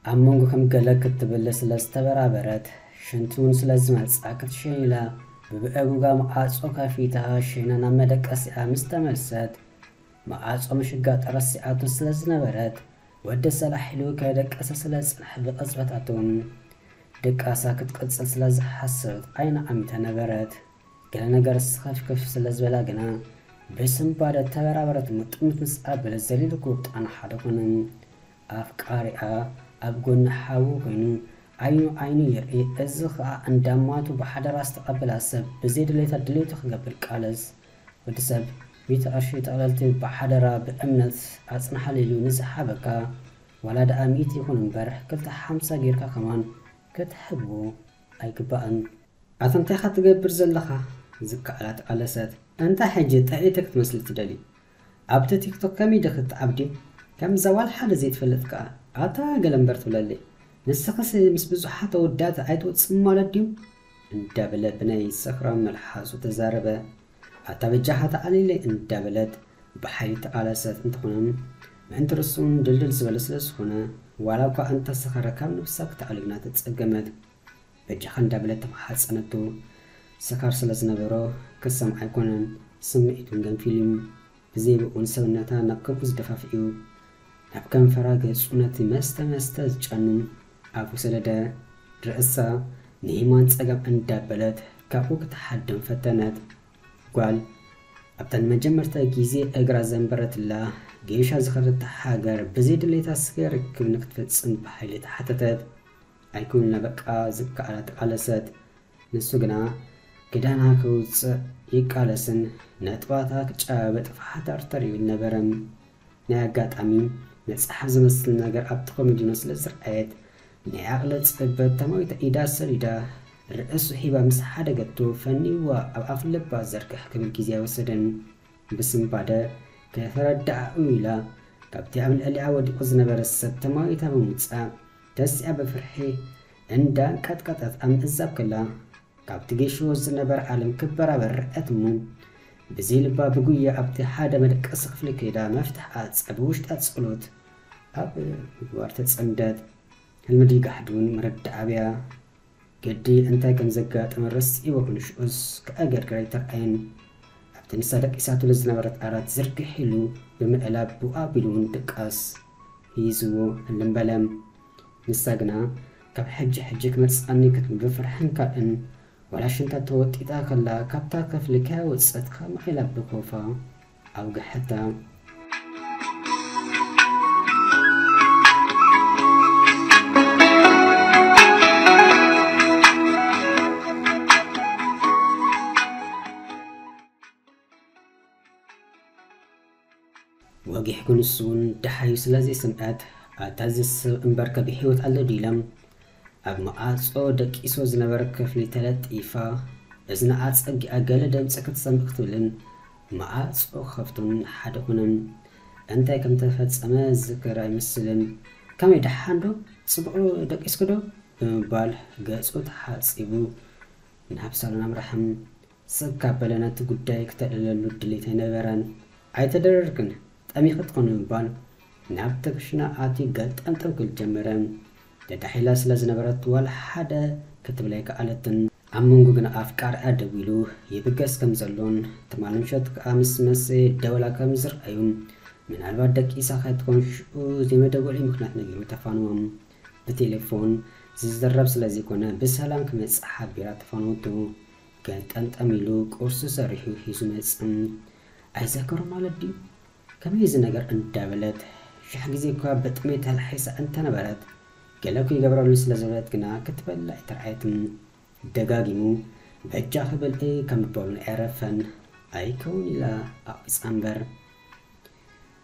ኣብ መንጎ ከም ገለ ክትብል ስለ ዝተበራበረት፣ ሽንቲ እውን ስለ ዝመጽኣ ክትሸይን ኢላ ብብእጉጋ መዓጾ ከፊታ ሸይና ናብ መደቀሲኣ ምስ ተመልሰት፣ መዓጾ ምሽጋጥ ረሲዓቶ ስለ ዝነበረት፣ ወዲ ሰላሕ ኢሉ ከይደቀሰ ስለ ዝጸንሐ ብቕጽበት ኣቶም ድቃሳ ክትቅጽል ስለ ዝሓሰበት ዓይና ዓሚታ ነበረት። ገለ ነገር ስኸፍከፍ ስለ ዝበላ ግና ብስንባደ ተበራበረት። ምጥምት ምስ ኣበለ ዘሊሉ ክውጣና ሓደ ኮነ። ኣፍቃሪኣ ኣብ ጎኒ ሓዉ ኮይኑ ዓይኑ ዓይኑ ይርኢ። እዚ ኸኣ እንዳማቱ ብሓደራ ዝተቐበላ ሰብ ብዘይ ድሌታ ድሌቱ ክገብር ቃለስ። ወዲ ሰብ ሚእቲ ቅርሺ ጠቕለልቲ ብሓደራ ብእምነት ኣጽንሓሉ ኢሉ ንዝሓበካ ዋላ ደኣ ሚእቲ ይኹን እምበር ክልተ ሓምሳ ጌርካ ከማን ክትሕቦ ኣይግባእን። ኣታ እንታይ ኢኻ ትገብር ዘለኻ? ዝከኣላ ተቓለሰት። እንታይ ሕጂ ጠዒቲ ክትመስሊ ትደሊ? ኣብቲ ቲክቶክ ከመይ ዲኺ ትዓብዲ? ከምዛ ዋላ ሓደ ዘይትፈልጥ ከኣ ኣታ ገለ እምበር ትብለለይ። ንስኽስ ምስ ብዙሓት ኣወዳት ኣይትወጽን ማለት ድዩ? እንዳበለ ብናይ ሰኽራም መልሓሱ ተዛረበ። ኣታ በጃኻ ተዓሊለይ እንዳበለት ብሓይሊ ተቓለሰት። እንተኾነ ምእንቲ ርእሱን ድልድል ዝበለ ስለ ዝኾነ ዋላ እኳ እንተሰኸረ ካብ ነብሳ ክትኣልግና ተጸገመት። በጃኻ እንዳበለት ተማሓጸነቱ። ስኻር ስለ ዝነበሮ ክሰምዓ ኣይኮነን፣ ስምዒቱን ገንፊሉ እዩ። ብዘይ ብኡን ሰብነታ ናብ ከንፈሩ ዝደፋፍእ'ዩ። ናብ ከንፈራ ገጹ ነቲ መስተ መስተ ዝጨኑ ኣፉ ሰደደ። ርእሳ ንየማን ጸጋም እንዳበለት ካብኡ ክትሓድም ፈተነት። ጓል ኣብታ ንመጀመርታ ግዜ እግራ ዘንበረትላ ጌሻ ዝኸደታ ሃገር ብዘይ ድሌታ ስገ ርክብ ንክትፍጽም ብሓይሊ ተሓተተት። ኣይኩንና በቃ ዝከኣላ ተቓለሰት። ንሱ ግና ክዳና ከውጽእ ይቃለስን ነጥባታ ክጨባበጥ ፋሕታርተር ይብል ነበረ። ናይ ኣጋጣሚ መጽሓፍ ዝመስል ነገር ኣብቲ ኮሚዲኖ ስለ ዝረኣየት ናይ ዓቕሊ ጽበት ተማዊታ ኢዳ ሰዲዳ ርእሱ ሂባ ምስ ሓደገቶ ፈኒዋ ኣብ ኣፍ ልባ ዘርግሕ ክብል ግዜ ኣይወሰደን። ብስንባደ ከይተረድኣኡ ኢላ ካብቲ ኣብ ልዕሊኣ ወዲቑ ዝነበረ ሰብ ተማዊታ ብምውጻእ ተሲኣ ብፍርሒ እንዳንቀጥቀጠት ኣብ ምእዛብ ከላ፣ ካብቲ ጌሽዎ ዝነበረ ዓለም ክበራበር ረኣየት እሞ፣ ብዘይ ልባ ብጉያ ኣብቲ ሓደ መደቀሲ ክፍሊ ከይዳ መፍትሕ ዓጸ ብውሽጣ ጸሎት ኣብ ምግባር ተጸምደት። ህልሚ ድዩ ጋሕዲ እውን መረዳእ ኣብያ። ገዲ እንታይ ከም ዘጋጠመ ረሲዕዎ ክንሽኡስ ክኣገርግር ኣይተርኣየን። ኣብቲ ንሳ ደቂሳትሉ ዝነበረት ዓራት ዝርግሕ ኢሉ ብምእላብ ብኡ ኣቢሉ እውን ድቃስ ሂዝዎ ህልም በለ። ንሳ ግና ካብ ሕጂ ሕጂ ክመጽኣኒ ክትብል ብፍርሕን ካልእን ዋላ ሽንታ ተወጢጣ ከላ ካብታ ክፍሊ ከያወጸት ከማኢላ ብኮፋ ኣውግሐታ። ወጊሕ ክንሱ እውን ደሓዩ ስለ ዘይሰምዐት፣ ኣታ እዚ ሰብ እምበርከ ብህይወት ኣሎ ድዩ ኢላ ኣብ መዓጾ ደቂሶ ዝነበረ ክፍሊ ተለጢፋ፣ እዝና ኣጸጊኣ ገለ ድምጺ ክትሰምዕ ክትብልን መዓጾ ክኸፍቶን ሓደ ኮነ። እንታይ ከም ተፈጸመ ዝዝከር ኣይመስልን። ከመይ ደሓን ዶ? ጽቡቕ ደቂስኪ ዶ? ብምባል ገጹ ተሓጺቡ ናብ ሳሎን ኣምርሐ። ስቕ ካብ በለ ነቲ ጉዳይ ክተዕልለሉ ድሌት ኣይነበረን። ኣይተደረርክን፣ ጠሚኺ ትኾኒ ብምባል ናብቲ ክሽነ ኣትዩ ገልጠምጠም ክብል ጀመረ። ደዳሕ ኢላ ስለ ዝነበረት ዋላ ሓደ ክትብል ኣይከኣለትን። ኣብ መንጎ ግና ኣፍቃሪኣ ደዊሉ ይብገስ ከም ዘሎን ትማሊ ምሸት ከኣ ምስ መሰየ ደወላ ከም ዝረኣዩ፣ ምናልባት ደቂሳ ከይትኮን ሽዑ ዘይመደወሊ ምኽንያት ነጊሩ ተፋንዎም። ብቴሌፎን ዝዝረብ ስለ ዘይኮነ ብሰላም ክመጽእ ሓቢራ ተፋነወቶ። ገልጠምጠም ኢሉ ቁርሲ ሰሪሑ ሒዙ መጸ። ኣይዘከሮ ማለት ድዩ? ከመይ እዚ ነገር እንዳበለት ሽሕ ግዜ እኳ ብጥሜት ተላሒሳ እንተነበረት፣ ገለ እኮ ይገብረሉ ስለ ዝበለት ግና ክትበልዕ ኣይተርኣየትን። ደጋጊሙ በጃኺ ብልዒ ከም ምባሉ ኣይረፈን። ኣይከውን ኢላ ኣቕጻ እምበር።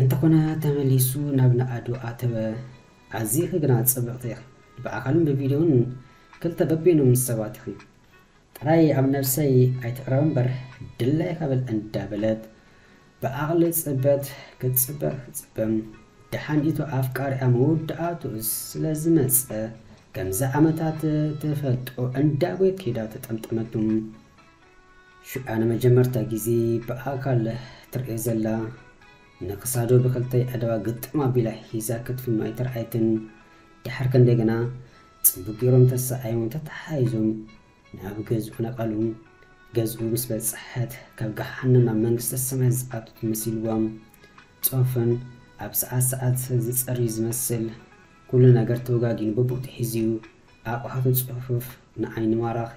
እንተኾነ ተመሊሱ ናብ ንኣዱ ኣተወ። ኣዚኺ ግና ጽብቕቲ ኢኺ። ብኣካልን ብቪድዮን ክልተ በበይኖም ሰባት ኢኺ። ጥራይ ኣብ ነብሰይ ኣይትቕረብ እምበር ድላይካ በል እንዳበለት ብዓቕሊ ጽበት ክትጽበ ክትጽበ፣ ደሓን ኢቱ ኣፍቃሪኣ መወዳእትኡ ስለ ዝመጸ፣ ከምዚ ዓመታት ትፈልጦ እንዳጎየት ከይዳ ተጠምጠመቱ። ሽዓ ንመጀመርታ ግዜ ብኣካል ትርእዮ ዘላ፣ ንክሳዱ ብክልተ ኣእዳዋ ግጥም ኣቢላ ሒዛ ክትፍኖ ኣይተርኣየትን። ድሕር ክንደይ ግና ጽቡቕ ገይሮም ተሰኣዮም ተተሓሒዞም ናብ ገዝኡ ነቐሉ። ገዝኡ ምስ በጽሐት ካብ ገሓነም ናብ መንግስተ ሰማይ ዝኣቱ መሲልዎም ጾፍን ኣብ ሰዓት ሰዓት ዝጸሪ ዝመስል ኩሉ ነገር ተወጋጊኑ በቦቱ ሒዝዩ ኣቑሑቱ ጽፉፍ ንዓይኒ ማራኺ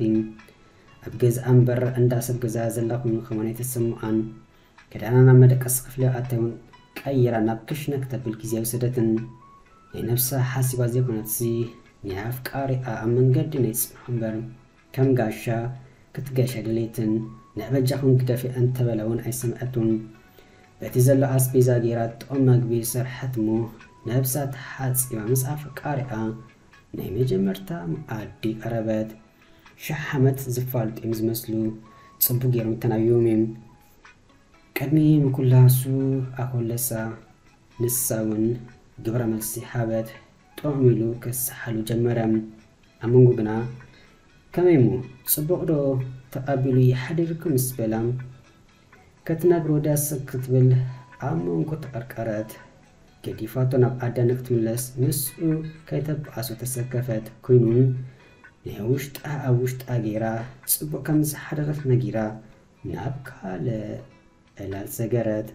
ኣብ ገዝኣ እምበር እንዳ ሰብ ገዛ ዘላ ኮይኑ ከማን ኣይተሰምዓን። ክዳና ናብ መደቀሲ ክፍሊ ኣተውን ቀይራ ናብ ክሽነ ክተብል ግዜ ኣይወሰደትን። ናይ ነብሳ ሓሲባ ዘይኮነትሲ ናይ ኣፍቃሪኣ ኣብ መንገዲ ናይ ጽንሖ እምበር ከም ጋሻ ክትገሽ ኣይደለየትን። ንዕበጃኹም ግደፊ እንተበላ እውን ኣይሰምዐቱን። በቲ ዘሎ ኣስቤዛ ገይራ ጥዑም መግቢ ሰርሐት እሞ ነብሳ ተሓጺባ ምስ ኣፍቃሪኣ ናይ መጀመርታ መኣዲ ቀረበት። ሽሕ ዓመት ዝፋልጡ እዮም ዝመስሉ። ጽቡቕ ገይሮም ተናቢቦም እዮም። ቅድሚ ምኩላሱ ኣኮለሳ ንሳ እውን ግብረ መልሲ ሃበት። ጥዑም ኢሉ ክስሓሉ ጀመረ። ኣመንጉ ግና ከመይ እሞ ጽቡቕ ዶ ተቐቢሉ ይሓድርኩም ምስ በላ ክትነግሮ ደስ ክትብል ኣብ መንጎ ተቐርቀረት። ገዲፋቶ ናብ ኣደ ንክትምለስ ምስኡ ከይተበኣሶ ተሰከፈት። ኮይኑን ናይ ውሽጣ ኣብ ውሽጣ ገይራ ጽቡቕ ከም ዝሓደረት ነጊራ ናብ ካልእ ዕላል ሰገረት።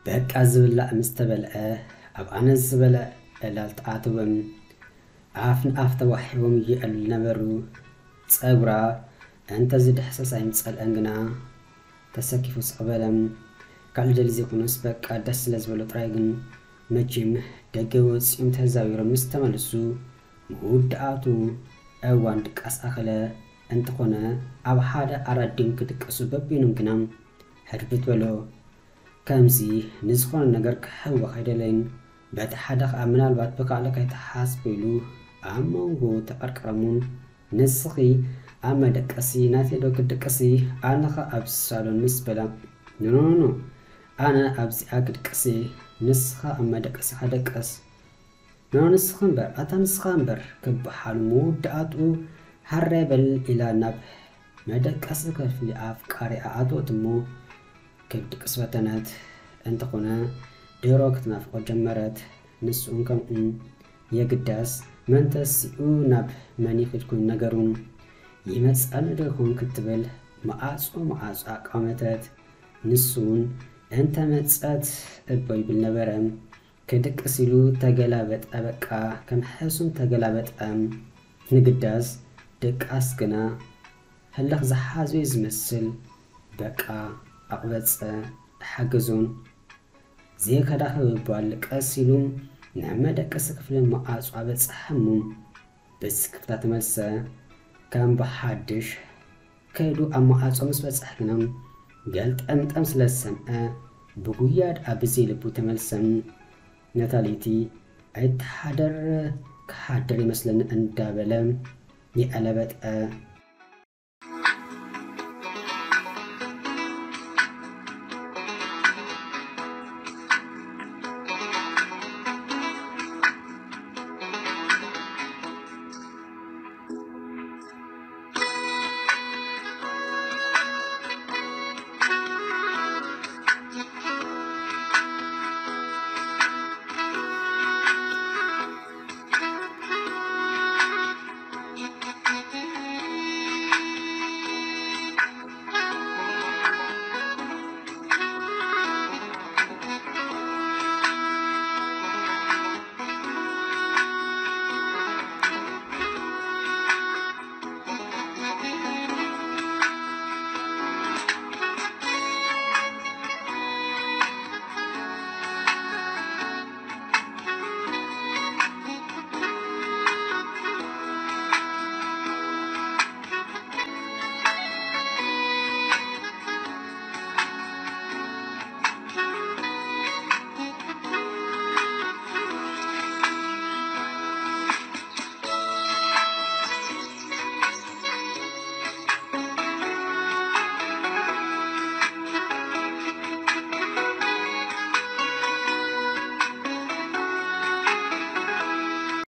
በቃ ዝብላዕ ምስ ተበልዐ ኣብ ኣነ ዝበለ ዕላል ተኣትዎም። ኣፍ ንኣፍ ተዋሒቦም ይዕልሉ ነበሩ። ጸጉራ እንተ ዝድሕሰስ ኣይምጸልአን ግና ተሰኪፉ ስቕ በለ። ካልእ ደሊ ዘይኮነስ በቃ ደስ ስለ ዝበሎ ጥራይ ግን መቸም ደገ ወጺኦም ተዛዊሮም ምስ ተመልሱ መወዳእቱ እዋን ድቃስ ኣኸለ። እንተኾነ ኣብ ሓደ ኣራዲም ክድቅሱ በቢኖም ግና ሕርብት በሎ። ከምዚ ንዝኾነ ነገር ክሕወኽ ኣይደለይን። በቲ ሓደ ኸኣ ምናልባት ብካልእ ከይትሓስቡ ኢሉ ኣብ መንጎ ተቐርቀረሙ። ንስኺ ኣብ መደቀሲ ናተይ ዶ ክትድቅሲ? ኣነኸ ኣብ ሳሎን ምስ በላ ኖኖኖ ኣነ ኣብዚኣ ክድቅሲ ንስኻ ኣብ መደቀሲኻ ደቀስ። ኖ ንስኻ እምበር ኣታ ንስኻ እምበር ክበሃሉ መወዳእትኡ ሃራይ በል ኢላ ናብ መደቀሲ ክፍሊ ኣፍቃሪኣ ኣተወት እሞ ክድቅስ ፈተነት። እንተኾነ ድሮ ክትናፍቆ ጀመረት። ንስኡን ከምኡ የግዳስ መንተሲኡ ናብ መን ይኽድ ኮይኑ ነገሩ ይመጽኣኒ ዶ ይኾን ክትብል መዓጾ መዓጾ ኣቋመተት። ንሱን እንተ መጸት እቦ ይብል ነበረ። ክድቅስ ኢሉ ተገላበጠ በቃ ከም ሕሱም ተገላበጠ። ንግዳስ ድቃስ ግና ህልኽ ዝሓዞ እዩ ዝመስል። በቃ ኣቕበጸ ሓገዞን ዘይከዳኸብ እባል ቀስ ኢሉ ናብ መደቀሲ ክፍሊ መዓጹ ኣበጽሐ እሞ ብስክፍታ ተመልሰ። ከም ብሓድሽ ከይዱ ኣብ መዓጹ ምስ በጽሐ ግና ገልጠምጠም ስለ ዝሰምዐ ብጉያ ደኣ ብዘይ ልቡ ተመልሰ። ነታ ለይቲ ኣይትሓደር ክሓድር ይመስለኒ እንዳበለ ይዕለበጠ።